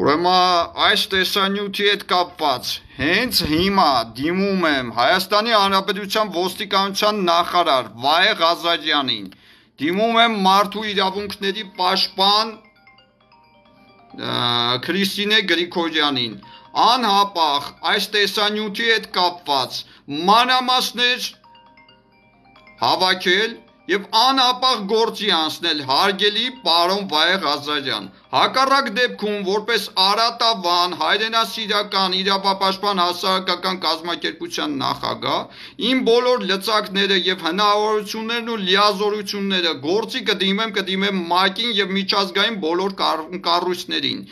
Ուրեմն այս տեսանյութի հետ կապված հենց հիմա դիմում եմ Հայաստանի Հանրապետության ոստիկանության նախարար Վահե Ղազարյանին, դիմում եմ մարդու իրավունքների պաշտպան Քրիստինե Գրիգորյանին, անհապաղ այս տեսանյութի հետ կապված մանրամասներ հավաքել և անհապաղ գործի անցնել հարգելի պարոն Վահե Ղազարյան, հակառակ դեպքում որպես Արատավան հայրենասիրական իրավապաշտպան հասարակական կազմակերպության նախագահ իմ բոլոր լծակները և հնարավորություններն ու լիազորությունները գործի կդիմեմ ՄԱԿ-ին և միջազգային բոլոր կառույցներին։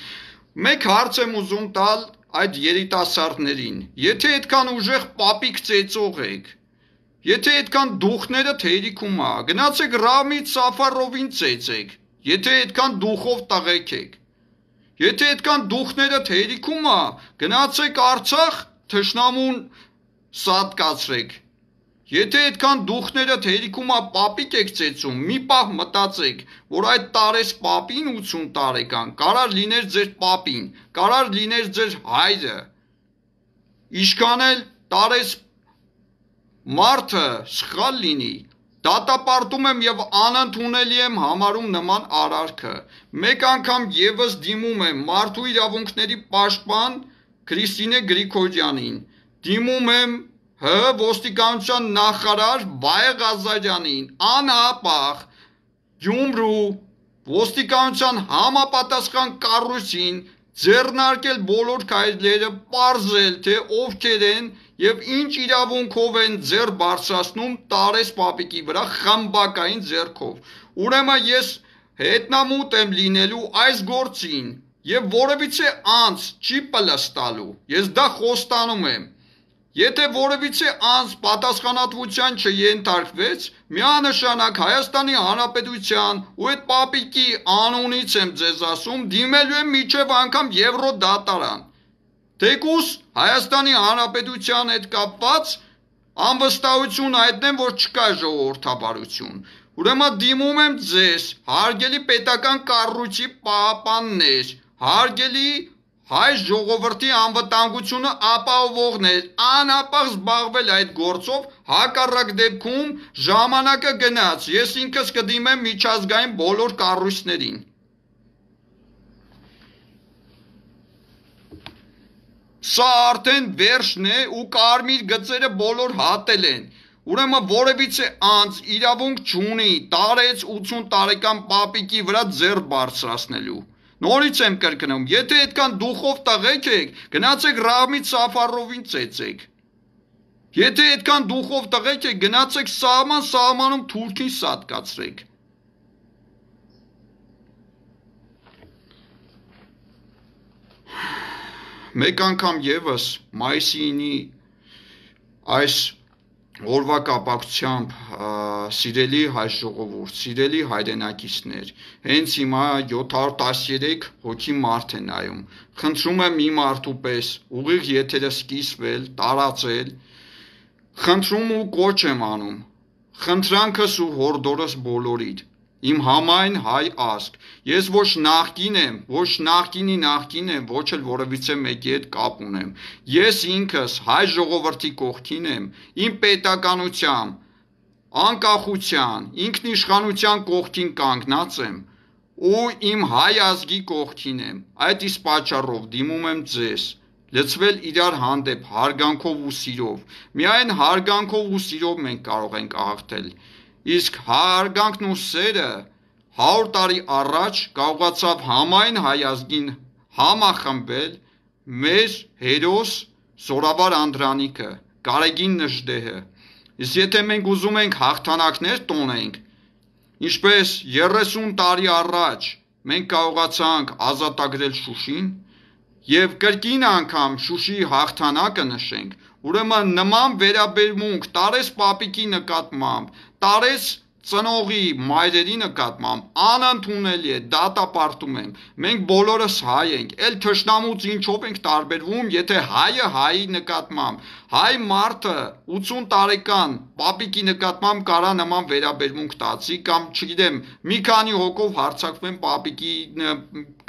Մեկ հարց եմ ուզում տալ այդ երիտասարդներին, եթե այդքան ուժեղ պապիկ ծեծող եք, եթե այդքան դուխներդ հերիքում ա, գնացեք Ռամիզ Սաֆարովին ծեծեք, եթե այդքան դուխով տղեկ եք, եթե այդքան դուխներդ հերիքում ա, գնացեք Արցախ թշնամուն սատկացրեք, եթե այդքան դուխներդ հերիքում ա պապիկ եք ծեծում, մի պահ մտածեք, որ այդ Տարես պապին 80 տարեկան, կարար լիներ ձեր պապին, կարար լիներ ձեր հայրը, ինչքան էլ Տարես մարդը սխալ լինի, դատապարտում եմ և անընդունելի եմ համարում նման արարքը, մեկ անգամ ևս դիմում եմ մարդու իրավունքների պաշտպան Քրիստինե Գրիգորյանին, դիմում եմ ՀՀ ոստիկանության նախարար Վահե Ղազարյանին, անհապաղ Գյումրու ոստիկանության համապատասխան կառույցին ձեռնարկել բոլոր քայլերը, պարզել, թե ովքեր են և ինչ իրավունքով են ձեռք բարձրացնում Տարես պապիկի վրա խմբակային ձեռքով։ Ուրեմն ես հետնամուտ եմ լինելու այս գործին և որևիցե անձ չի պլստալու, ես դա խոստանում եմ։ Եթե որևիցե անձ պատասխանատվության չենթարկվեց, միանշանակ Հայաստանի Հանրապետության ու այդ պապիկի անունից եմ ձեզ ասում, դիմելու եմ մինչև անգամ Եվրոդատարան, թեկուզ Հայաստանի Հանրապետության հետ կապված անվստահություն հայտնեմ, որ չկա ժողովրդավարություն։ Ուրեմն դիմում եմ ձեզ, հարգելի պետական կառույցի պահապաններ, հարգելի հայ ժողովրդի անվտանգությունը ապահովողներ, անհապաղ զբաղվել այդ գործով, հակառակ դեպքում ժամանակը գնաց, ես ինքս կդիմեմ միջազգային բոլոր կառույցներին։ Սա արդեն վերջն է ու կարմիր գծերը բոլոր հատել են։ Ուրեմն որևիցե անձ իրավունք չունի Տարեց 80 տարեկան պապիկի վրա ձեռք բարձրացնելու։ Նորից եմ կրկնում, եթե այդքան դուխով տղեկ եք, գնացեք Ռամիզ Սաֆարովին ծեծեք։ Եթե այդքան դուխով տղեկ եք, գնացեք սահմանում թուրքին սատկացրեք։ Մեկ անգամ ևս մայիսի 9-ի այս օրվա կապակցությամբ սիրելի հայ ժողովուրդ, սիրելի հայրենակիցներ, հենց հիմա 713 հոգի մարդ է նայում, խնդրում եմ իմ մարդու պես ուղիղ եթերը սկիզբել, տարածել, խնդրում ու կոչ եմ անում, խնդրանքս ու հորդորս բոլորիդ, իմ համայն հայ ազգ, ես ոչ նախկին եմ, ոչ նախկինի նախկին եմ, ոչ էլ որևիցե մեկի հետ կապ ունեմ, ես ինքս հայ ժողովրդի կողքին եմ, իմ պետականությամբ, անկախության, ինքնիշխանության կողքին կանգնած եմ ու իմ հայ ազգի կողքին եմ, այդ իսկ պատճառով դիմում եմ ձեզ, լծվել իրար հանդեպ հարգանքով ու սիրով, միայն հարգանքով ու սիրով մենք կարող ենք հաղթել, իսկ հարգանքն ու սերը 100 տարի առաջ կարողացավ համայն հայ ազգին համախմբել մեր հերոս Զորավար Անդրանիկը, Գարեգին Նժդեհը, իսկ եթե մենք ուզում ենք հաղթանակներ տոնենք, ինչպես 30 տարի առաջ մենք կարողացանք ազատագրել Շուշին և կրկին անգամ Շուշիի հաղթանակը նշենք, ուրեմն նման վերաբերմունք Տարես պապիկի նկատմամբ, Տարես ծնողի մայրերի նկատմամբ անընդունելի է, դատապարտում եմ։ Մենք բոլորս հայ ենք, էլ թշնամուց ինչով ենք տարբերվում, եթե հայը հայի նկատմամբ, հայ մարդը 80 տարեկան պապիկի նկատմամբ կարա նման վերաբերմունք տածի կամ չգիտեմ, մի քանի հոգով հարձակվեն պապիկի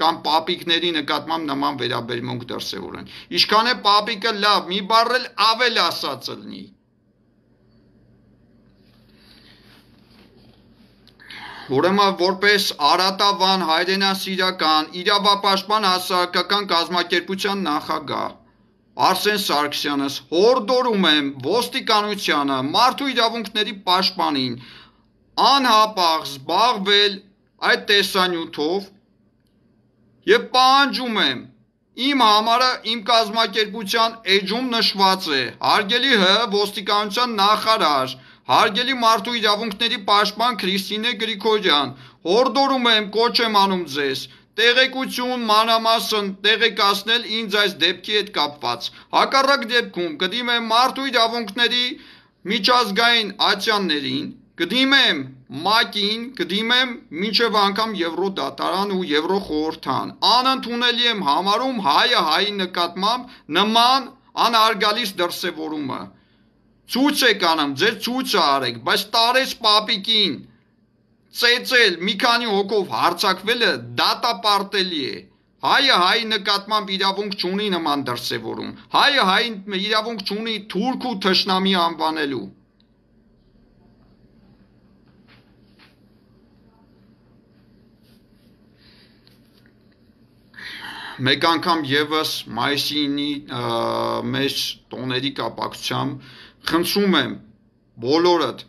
կամ պապիկների նկատմամբ նման վերաբերմունք դրսևորեն։ Ինչքան է պապիկը լավ, մի բառ էլ ավել ասած լինի։ Ուրեմն որպես Արատավան հայրենասիրական իրավապաշտպան հասարակական կազմակերպության նախագահ Արսեն Սարգսյանս հորդորում եմ ոստիկանությանը մարդու իրավունքների պաշտպանին անհապաղ զբաղվել այդ տեսանյութով եւ պահանջում եմ իմ համարը իմ կազմակերպության էջում նշված է հարգելի ոստիկանության նախարար Հարգելի մարդու իրավունքների պաշտպան Քրիստինե Գրիգորյան, հորդորում եմ կոչ եմ անում ձեզ, տեղեկություն մանրամասն տեղեկացնել ինձ այս դեպքի հետ կապված։ Հակառակ դեպքում կդիմեմ մարդու իրավունքների միջազգային ատյաններին, կդիմեմ ՄԱԿ-ին, կդիմեմ մինչև անգամ Եվրոդատարան ու Եվրոխորհրդան։ Անընդունելի եմ համարում հայը հայի նկատմամբ նման անհարգալից դրսևորումը։ Ցույց եք անում, ձեր ցույցը արեք, բայց տարեց պապիկին ծեծել մի քանի հոգով հարձակվելը դատապարտելի է։ Հայը հայի նկատմամբ իրավունք չունի նման դրսևորում։ Հայը հայի իրավունք չունի թուրք ու թշնամի անվանելու։ Մեկ անգամ եւս մայիսի 9-ի մեր տոների կապակցությամբ խնդրում եմ բոլորդ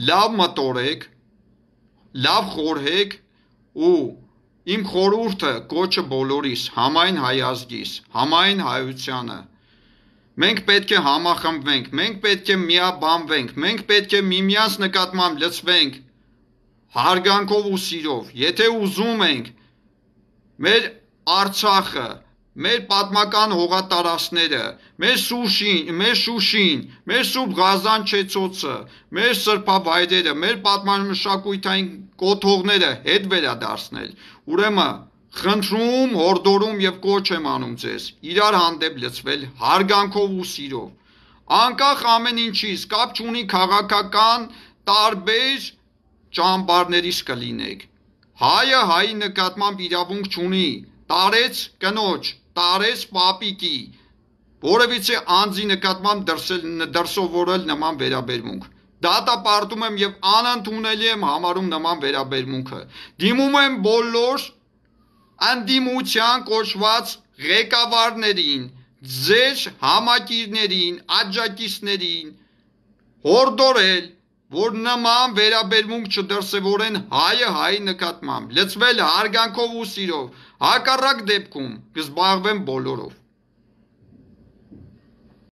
լավ մտորեք, լավ խորհեք ու իմ խորհուրդը կոչը բոլորիս համայն հայազգիս, համայն հայությանը մենք պետք է համախմբվենք, մենք պետք է միաբանվենք, մենք պետք է միմյանց նկատմամբ լծվենք հարգանքով ու սիրով, եթե ուզում ենք մեր Արցախը մեր պատմական հողատարածքները, մեր Շուշին, մեր Սուրբ Ղազան-Չեցոցը, մեր սրբավայրերը, մեր պատմամշակութային կոթողները հետ վերադարձնել։ Ուրեմն խնդրում, հորդորում եւ կոչ եմ անում ձեզ իրար հանդեպ լծվել հարգանքով ու սիրով։ Անկախ ամեն ինչից, կապ չունի քաղաքական տարբեր ճամբարներից կլինեք։ Հայը հայի նկատմամբ իրավունք չունի, տարեց կնոջ տարեց պապիկի, որևիցե անձի նկատմամբ դրսևորել նման վերաբերմունք։ Դատապարտում եմ եւ անընդունելի եմ համարում նման վերաբերմունքը։ Դիմում եմ բոլոր անդիմության կոչված ղեկավարներին, ձեր համակիրներին, աջակիցներին հորդորել, որ նման վերաբերմունք չդրսևորեն հայը հայի նկատմամբ, լծվել հարգանքով ու սիրով, հակառակ դեպքում կզբաղվեն բոլորով։